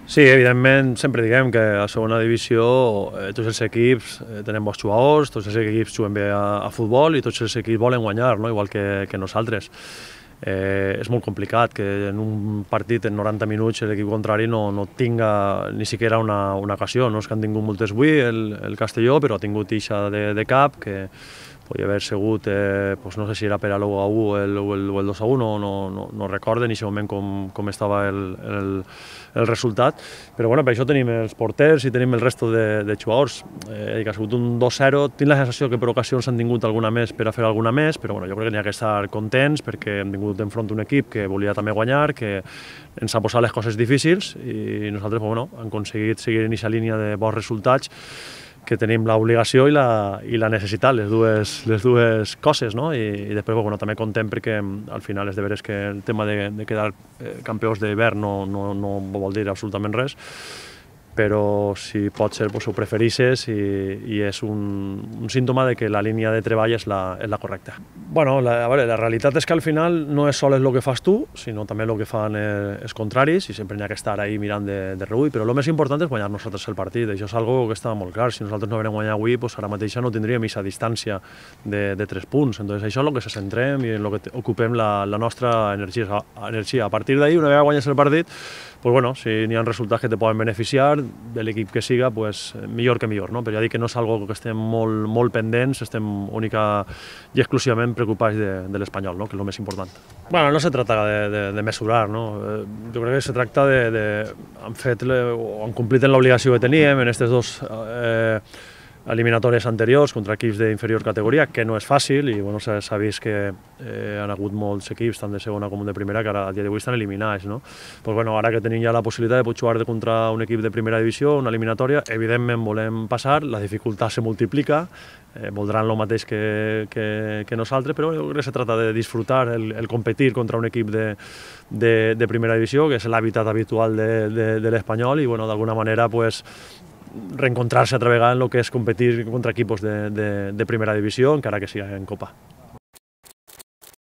Sí, evidentment, sempre diguem que a segona divisió tots els equips tenen bons jugadors, tots els equips juguen bé a futbol i tots els equips volen guanyar, no? Igual que nosaltres. És molt complicat que en un partit en 90 minuts l'equip contrari no tinga ni siquiera una ocasió. No és que han tingut moltes avui el Castelló, però ha tingut ixa de cap que podia haver sigut, no sé si era per a l'1-1 o el 2-1, no recordo en aquest moment com estava el resultat, però bueno, per això tenim els porters i tenim el resto de jugadors. Que ha sigut un 2-0, tinc la sensació que per ocasions han tingut alguna més per a fer alguna més, però bueno, jo crec que n'hi ha que estar contents perquè hem tingut enfront un equip que volia també guanyar, que ens ha posat les coses difícils i nosaltres hem aconseguit seguir en aquesta línia de bons resultats que tenim l'obligació i la necessitat, les dues coses, no? I després també content perquè al final és de veres que el tema de quedar campions d'hivern no vol dir absolutament res, però si pot ser ho preferisses i és un símptoma de que la línia de treball és la correcta. Bueno, la realitat és que al final no és sols el que fas tu, sinó també el que fan els contraris i sempre n'hi ha que estar ahí mirant de reüll, però el més important és guanyar nosaltres el partit, això és algo que està molt clar. Si nosaltres no haguem guanyat avui, ara mateix no tindríem aquesta distància de 3 punts, entonces això és el que se centrem i en el que ocupem la nostra energia. A partir d'ahir, una vegada guanyes el partit, si n'hi ha resultats que te poden beneficiar de l'equip que siga, millor que millor, no? Però ja dic que no és algo que estem molt pendents, estem única i exclusivament preocupats de l'Espanyol, no? Que és el més important. Bueno, no se trata de mesurar, no? Jo crec que se tracta han complit l'obligació que teníem en aquestes dos eliminatòries anteriors contra equips d'inferior categoria, que no és fàcil i s'ha vist que han hagut molts equips, tant de segona com de primera, que ara a dia d'avui estan eliminats, no? Ara que tenim ja la possibilitat de poder jugar contra un equip de primera divisió, una eliminatòria, evidentment volem passar, la dificultat se multiplica, voldran el mateix que nosaltres, però jo crec que se trata de disfrutar el competir contra un equip de primera divisió, que és l'hàbitat habitual de l'Espanyol i d'alguna manera reencontrarse altra vegada en el que és competir contra equipos de primera divisió, encara que sigui en Copa.